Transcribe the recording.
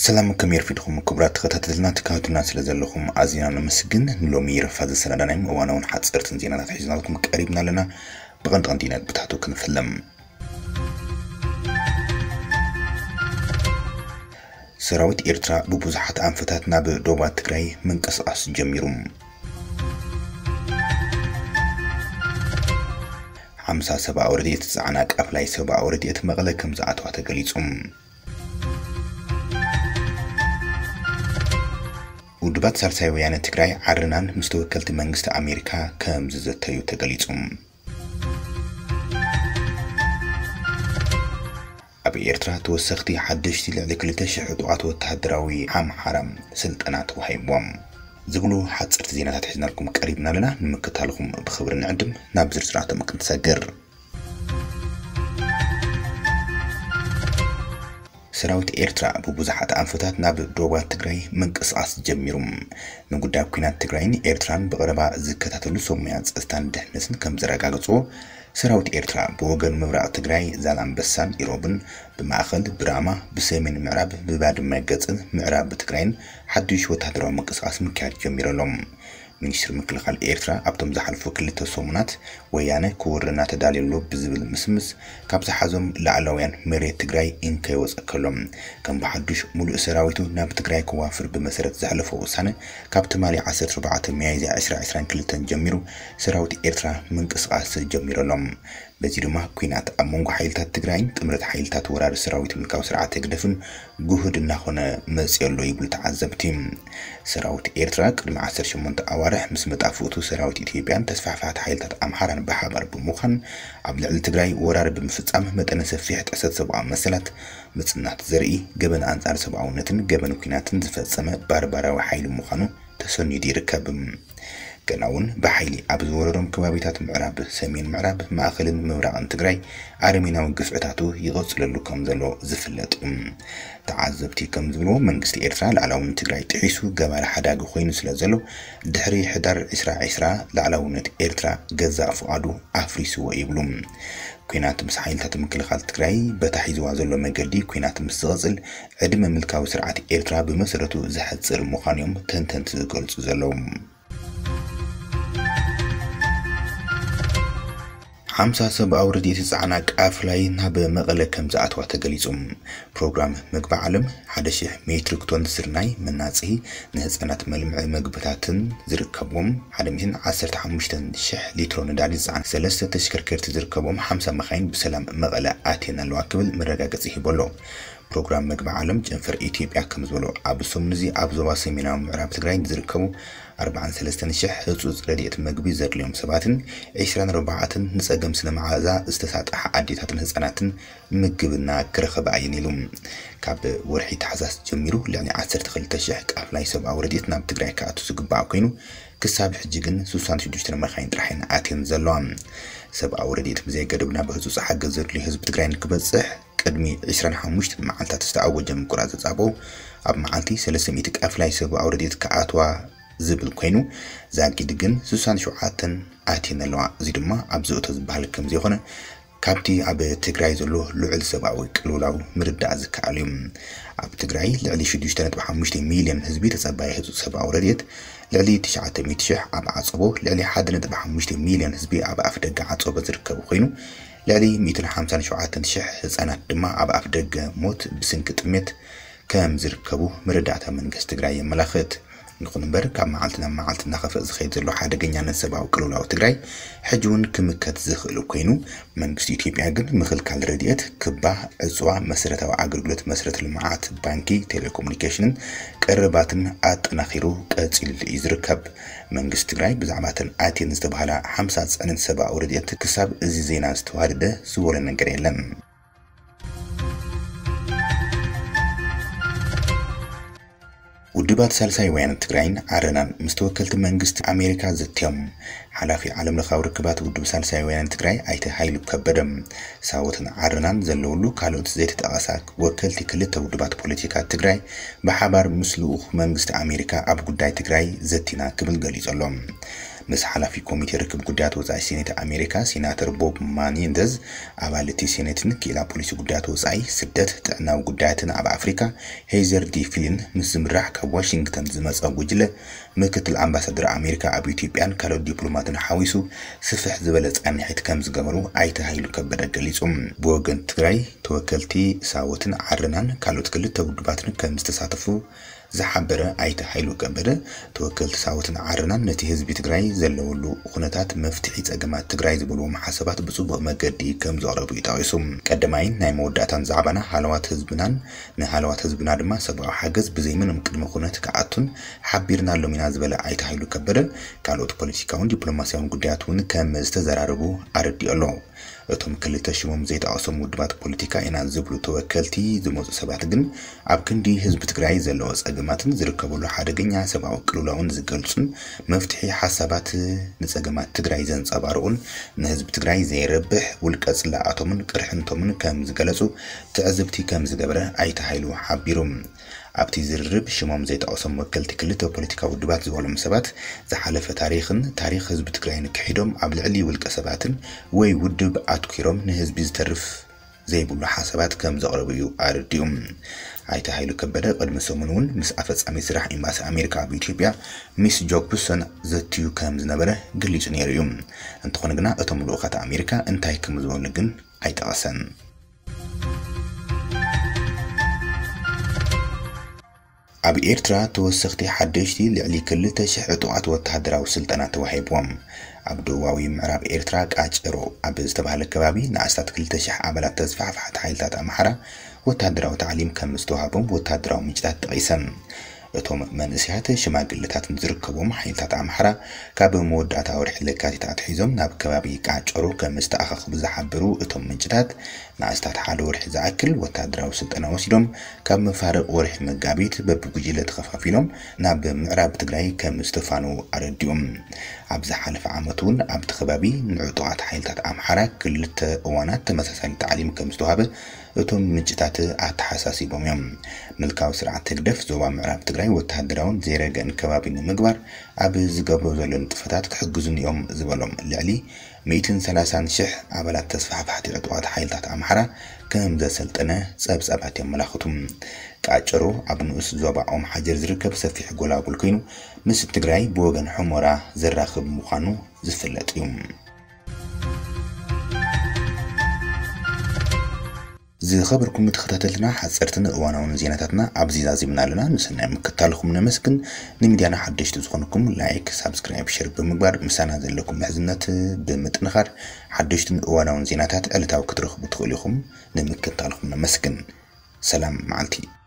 ሰላም፣ ከመይ ኣርፊድኩም ክቡራት ተኸታተልና? ትከታተሉና ስለ ዘለኹም ኣዚና ነመስግን። ንሎሚ ረፋ ዘሰናዳናዮም እዋናውን ሓጸርትን ዜናታት ሒዝናልኩም ቀሪብና ኣለና። ብቐንዲ ቀንዲ ነጥብታቱ ክንፍለም። ሰራዊት ኤርትራ ብብዙሓት ኣንፈታት ናብ ዶባት ትግራይ ምንቅስቓስ ጀሚሩ። ሓምሳ ሰብኣዊ ረድኤት ዝጸዓና ቃፍላይ ሰብኣዊ ረድኤት መቐለ ከም ዝኣተዋ ተገሊጹ። ውድባት ሳልሳይ ወያነ ትግራይ ዓርናን ምስ ተወከልቲ መንግስቲ ኣሜሪካ ከም ዝዘተዩ ተገሊጹ። ኣብ ኤርትራ ተወሰኽቲ ሓደሽቲ ልዕሊ ክልተ ሽሕ ዕጡቓት ወተሃደራዊ ኣምሓራ ስልጠና ተዋሂብዎም። ዝብሉ ሓጸርቲ ዜናታት ሒዝናልኩም ቀሪብና ኣለና። ንምክታልኩም ብኽብሪ ንዕድም። ናብ ዝርዝራቶም ክንሰግር። ሰራዊት ኤርትራ ብብዙሓት ኣንፈታት ናብ ዶባት ትግራይ ምንቅስቓስ ጀሚሩ። ንጉዳይ ኲናት ትግራይን ኤርትራን ብቐረባ ዝከታተሉ ሰብ ሞያ ጸጥታን ድሕነትን ከም ዘረጋገጽዎ፣ ሰራዊት ኤርትራ ብወገን ምብራቕ ትግራይ ዛላምበሳን ኢሮብን፣ ብማእኸል ብራማ፣ ብሰሜን ምዕራብ ብባድመ ገጽን ምዕራብ ትግራይን ሓድሽ ወተሃደራዊ ምንቅስቓስ ምክያድ ጀሚሩ ኣሎ። ሚኒስትሪ ምክልኻል ኤርትራ ኣብቶም ዝሓለፉ ክልተ ሰሙናት ወያነ ክወረና ተዳልዩ ኣሎ ብዝብል ምስምስ፣ ካብ ዝሓዞም ላዕላውያን መሬት ትግራይ እንከይወፀ ከሎ፣ ከም ብሓዱሽ ሙሉእ ሰራዊቱ ናብ ትግራይ ክዋፍር ብመሰረት ዘሕለፎ ውሳነ፣ ካብ ትማሊ ዓሰርተ ኣርባዕተ ሚያዝያ ዕስራ ዕስራን ክልተን ጀሚሩ ሰራዊት ኤርትራ ምንቅስቓስ ጀሚሩ ኣሎ። በዚ ድማ ኲናት ኣብ መንጎ ሓይልታት ትግራይን ጥምረት ሓይልታት ወራሪ ሰራዊት ምልካዊ ስርዓት ህግደፍን ግሁድ እናኾነ መፂኡ ኣሎ ይብሉ ተዓዘብቲ። ሰራዊት ኤርትራ ቅድሚ ዓሰርተ ሸሞንተ ኣዋርሕ ምስ መጣፍእቱ ሰራዊት ኢትዮጵያን ተስፋሕፋሕቲ ሓይልታት ኣምሓራን ብሓባር ብምዃን ኣብ ልዕሊ ትግራይ ወራር ብምፍጻም መጠነ ሰፊሕ ጥሕሰት ሰብኣዊ መሰላት፣ ምጽናት ዘርኢ፣ ገበን ኣንጻር ሰብኣውነትን ገበን ኲናትን ዝፈጸመ ባርባራዊ ሓይሊ ምዃኑ ተሰኒዱ ይርከብ። ገና እውን ብሓይሊ ኣብ ዝወረሮም ከባቢታት ምዕራብ፣ ሰሜን ምዕራብ፣ ማእኸልን ምብራቕን ትግራይ ኣረሜናዊ ግፍዕታቱ ይቐጽለሉ ከም ዘሎ ዝፍለጥ እዩ። ተዓዘብቲ ከም ዝብልዎ፣ መንግስቲ ኤርትራ ላዕላውነት ትግራይ ጥሒሱ ገባሪ ሓዳጊ ኮይኑ ስለ ዘሎ፣ ድሕሪ ሕዳር ዕስራ ዕስራ ላዕላውነት ኤርትራ ገዛእ ፍቓዱ ኣፍሪስዎ ይብሉ። ኲናት ምስ ሓይልታት ምክልኻል ትግራይ በታ ሒዝዋ ዘሎ መገዲ ኲናት ምስ ዝቐጽል፣ ዕድመ ምልካዊ ስርዓት ኤርትራ ብመሰረቱ ዘሕጽር ምዃኑ እዮም ተንተንቲ ዝገልጹ ዘለዉ። ሓምሳ ሰብኣዊ ረድኤት ዝጸዓና ቃፍላይ ናብ መቐለ ከም ዝኣተዋ ተገሊጹ። ፕሮግራም ምግቢ ዓለም ሓደ ሺሕ ሜትሪክ ቶን ስርናይ፣ መናጽሂ፣ ንህጻናት መልምዒ ምግብታትን ዝርከብዎም ሓደ ሚእትን ዓሰርተ ሓሙሽተ ሺሕ ሊትሮ ነዳዲ ዝጸዓና ሰለስተ ተሽከርከርቲ ዝርከብዎም ሓምሳ መኻይን ብሰላም መቐለ ኣትየን ኣለዋ ክብል መረጋገጺ ሂቡ ኣሎ። ፕሮግራም መግቢ ዓለም ጨንፈር ኢትዮጵያ ከም ዝበሎ፣ ኣብ ሰሙን እዚ ኣብ ዞባ ሰሜናዊ ምዕራብ ትግራይ ንዝርከቡ ኣርባዓን ሰለስተን ሽሕ ህጹጽ ረድኤት መግቢ ዘድልዮም ሰባትን ዕስራን ኣርባዕተን ንጸገም ስነ መሓዛ ዝተሳጥሓ ኣዴታትን ህጻናትን ምግብና ክረኸባ እየን ኢሉ። ካብ ወርሒ ታሕሳስ ጀሚሩ ልዕሊ ዓሰርተ ክልተ ሽሕ ቃፍላይ ሰብኣዊ ረድኤት ናብ ትግራይ ክኣቱ ዝግባእ ኮይኑ፣ ክሳብ ሕጂ ግን ስሳን ሽዱሽተን መኻይን ጥራሕ እየን ኣትየን ዘለዋ። ሰብኣዊ ረድኤት ብዘይ ገደብ ናብ ህጹጽ ሓገዝ ዘድልዮ ህዝቢ ትግራይ ንክበጽሕ፣ ቅድሚ ዕስራን ሓሙሽተን መዓልታት ዝተኣወጀ ምቁራጽ ጻቦ፣ ኣብ መዓልቲ ሰለስተ ሚእቲ ቃፍላይ ሰብኣዊ ረድኤት ክኣትዋ ዝብል ኮይኑ፣ ዛጊድ ግን ስሳን ሸውዓተን ኣትየን ኣለዋ። እዚ ድማ ኣብ ዘእቶ ዝበሃል ከም ዘይኮነ፣ ካብቲ ኣብ ትግራይ ዘሎ ልዑል ሰብኣዊ ቅልውላው ምርዳእ ዝከኣል እዩ። ኣብ ትግራይ ልዕሊ ሽዱሽተ ነጥቢ ሓሙሽተ ሚልዮን ህዝቢ ተጸባዪ ህጹጽ ሰብኣዊ ረድኤት፣ ልዕሊ ትሽዓተ ሚእቲ ሽሕ ኣብ ዓጸቦ፣ ልዕሊ ሓደ ነጥቢ ሓሙሽተ ሚልዮን ህዝቢ ኣብ ኣፍ ደገ ዓጸቦ ዝርከቡ ኮይኑ፣ ልዕሊ ሚእትን ሓምሳን ሸውዓተን ሽሕ ህጻናት ድማ ኣብ ኣፍ ደገ ሞት ብስንኪ ጥሜት ከም ዝርከቡ መረዳእታ መንግስቲ ትግራይ የመላኽት። ይኹን እምበር፣ ካብ መዓልቲ ናብ መዓልቲ እናኸፍአ ዝኸይድ ዘሎ ሓደገኛነት ሰብኣዊ ቅልውላው ትግራይ ሕጂ እውን ክምከት ዝኽእል ኮይኑ፣ መንግስቲ ኢትዮጵያ ግን ምኽልካል ረድኤት፣ ክባ፣ ዕፅዋ፣ መሰረታዊ ኣገልግሎት፣ መሰረተ ልምዓት፣ ባንኪ፣ ቴሌኮሙኒኬሽንን ቀረባትን ኣጠናኺሩ ቀፂሉሉ እዩ ዝርከብ። መንግስቲ ትግራይ ብዛዕባ እተን ኣትየን ዝተባህላ ሓምሳ ፅዕነት ሰብኣዊ ረድኤት ክሳብ እዚ ዜና ዝተዋደደ ዝበሎ ነገር የለን። ውድባት ሳልሳይ ወያነ ትግራይን ዓረናን ምስ ተወከልቲ መንግስቲ ኣሜሪካ ዘትዮም። ሓላፊ ዓለም ለኻዊ ርክባት ውድብ ሳልሳይ ወያነ ትግራይ ኣይተ ሃይሉ ከበደ፣ ሳወትን ዓረናን ዘለውሉ ካልኦት ዘይተጠቐሳ ወከልቲ ክልተ ውድባት ፖለቲካ ትግራይ ብሓባር ምስ ልኡኽ መንግስቲ ኣሜሪካ ኣብ ጉዳይ ትግራይ ዘቲና ክብል ገሊጹ ኣሎ። ምስ ሓላፊ ኮሚቴ ርክብ ጉዳያት ወጻኢ ሴኔት ኣሜሪካ ሴናተር ቦብ ማኒንደዝ፣ ኣባል እቲ ሴኔትን ክኢላ ፖሊሲ ጉዳያት ወጻኢ፣ ስደት፣ ጥዕናዊ ጉዳያትን ኣብ ኣፍሪካ ሄዘር ዲ ፊሊን ምስ ዝምራሕ ካብ ዋሽንግተን ዝመጸ ጉጅለ ምክትል ኣምባሳደር ኣሜሪካ ኣብ ኢትዮጵያን ካልኦት ዲፕሎማትን ሓዊሱ ስፍሕ ዝበለ ጻንሒት ከም ዝገበሩ ኣይተ ሃይሉ ከበደ ገሊጹ። ብወገን ትግራይ ተወከልቲ ሳወትን ዓረናን ካልኦት ክልተ ውድባትን ከም ዝተሳተፉ ዝሓበረ ኣይተ ሃይሉ ከበደ፣ ተወከልቲ ሳወትን ዓረናን ነቲ ህዝቢ ትግራይ ዘለወሉ ኩነታት መፍትሒ ጸገማት ትግራይ ዝበልዎም ሓሳባት ብጽቡቕ መገዲ ከም ዘቕረቡ እዩ ጠቒሱ። ቀዳማይን ናይ መወዳእታን ዛዕባና ሃለዋት ህዝብናን ንሃለዋት ህዝብና ድማ ሰብኣዊ ሓገዝ ብዘይምንም ቅድመ ኩነት ክኣቱን ሓቢርናሎም ኢና ዝበለ ኣይተ ሃይሉ ከበደ፣ ካልኦት ፖለቲካውን ዲፕሎማሲያውን ጉዳያት እውን ከም ዝተዘራረቡ ኣረዲኡ ኣሎ። እቶም ክልተ ሽሞም ዘይጠቐሶም ውድባት ፖለቲካ ኢና ዝብሉ ተወከልቲ ዝመፁ ሰባት ግን ኣብ ክንዲ ህዝቢ ትግራይ ዘለዎ ፀገማትን ዝርከበሉ ሓደገኛ ሰብኣዊ ቅልውላውን ዝገልፁን መፍትሒ ሓሳባት ንፀገማት ትግራይ ዘንፀባርቑን ንህዝቢ ትግራይ ዘይረብሕ ውልቀ ፅላኣቶምን ቅርሕንቶምን ከም ዝገለፁ ትዕዝብቲ ከም ዝገበረ ኣይተ ሃይሉ ሓቢሩ። ኣብቲ ዝርርብ ሽሞም ዘይጠቐሶም ወከልቲ ክልተ ፖለቲካዊ ውድባት ዝበሎም ሰባት ዝሓለፈ ታሪኽን ታሪኽ ህዝቢ ትግራይን ክሒዶም ኣብ ልዕሊ ውልቀ ሰባትን ወይ ውድብ ኣትኲሮም ንህዝቢ ዝተርፍ ዘይብሉ ሓሳባት ከም ዘቕረቡ እዩ ኣረዲኡ። ኣይተ ሃይሉ ከበደ ቅድሚ ሰሙን እውን ምስ ኣፈጻሚ ስራሕ ኤምባሲ ኣሜሪካ ኣብ ኢትዮጵያ ሚስ ጆክብሰን ዘትዩ ከም ዝነበረ ገሊጹ ነይሩ እዩ። እንተኾነ ግና እቶም ልኡኻት ኣሜሪካ እንታይ ከም ዝበሉ ግን ኣይጠቐሰን። ኣብ ኤርትራ ተወሰኽቲ ሓደሽቲ ልዕሊ ክልተ ሽሕ ዕጡቓት ወተሃደራዊ ስልጠና ተዋሂብዎም። ኣብ ደቡባዊ ምዕራብ ኤርትራ ቃጨሮ ኣብ ዝተባህለ ከባቢ ንኣስታት ክልተ ሽሕ ኣባላት ተስፋሕፋሕቲ ሓይልታት ኣምሓራ ወተሃደራዊ ታዕሊም ከም ዝተዋህቦም ወተሃደራዊ ምንጭታት ጠቒሰን። እቶም መንእሰያት ሽማግለታትን ዝርከቦም ሓይልታት ኣምሓራ ካብ መወዳእታ ወርሒ ለካቲት ኣትሒዞም ናብ ከባቢ ቃጨሮ ከም ዝተኣኻኽቡ ዝሓበሩ እቶም ምንጭታት፣ ንኣስታት ሓደ ወርሒ ዝኣክል ወተሃደራዊ ስልጠና ወሲዶም ካብ መፋርቕ ወርሒ መጋቢት በብጉጅለ ተኸፋፊሎም ናብ ምዕራብ ትግራይ ከም ዝተፋነዉ ኣረዲኦም። ኣብ ዝሓለፈ ዓመት እውን ኣብቲ ከባቢ ንዕጡቓት ሓይልታት ኣምሓራ ክልተ እዋናት ተመሳሳሊ ታዕሊም ከም ዝተዋህበ እቶም ምንጭታት ኣተሓሳሲቦም እዮም። ምልካዊ ስርዓት ህግደፍ ዞባ ምዕራብ ትግራይ ወተሃደራውን ዘይረገን ከባቢ ንምግባር ኣብ ዝገብሮ ዘሎ ንጥፈታት ክሕግዙኒ እዮም ዝበሎም ልዕሊ ሚእትን ሰላሳን ሽሕ ኣባላት ተስፋሕፋሕቲ ዕጡቓት ሓይልታት ኣምሓራ ከም ዘሰልጠነ ጸብጻባት የመላኽቱ። ቃጨሮ ኣብ ንኡስ ዞባ ኦም ሓጀር ዝርከብ ሰፊሕ ጎላጉል ኮይኑ፣ ምስ ትግራይ ብወገን ሑመራ ዘራኽብ ምዃኑ ዝፍለጥ እዩ። ዝኸበርኩም ተኸታተልትና፣ ሓጸርትን እዋናውን ዜናታትና ኣብዚ ዛዚምና ኣለና። ንሰናይ ምክታልኩም ነመስግን። ንሚድያና ሓደሽቲ ዝኾንኩም ላይክ፣ ሳብስክራይብ፣ ሸር ብምግባር ምሳና ዘለኩም ምሕዝነት ብምጥንኻር ሓደሽትን እዋናውን ዜናታት ዕለታዊ ክትረኽቡ ትኽእሉ ኢኹም። ንምክታልኩም ነመስግን። ሰላም መዓልቲ።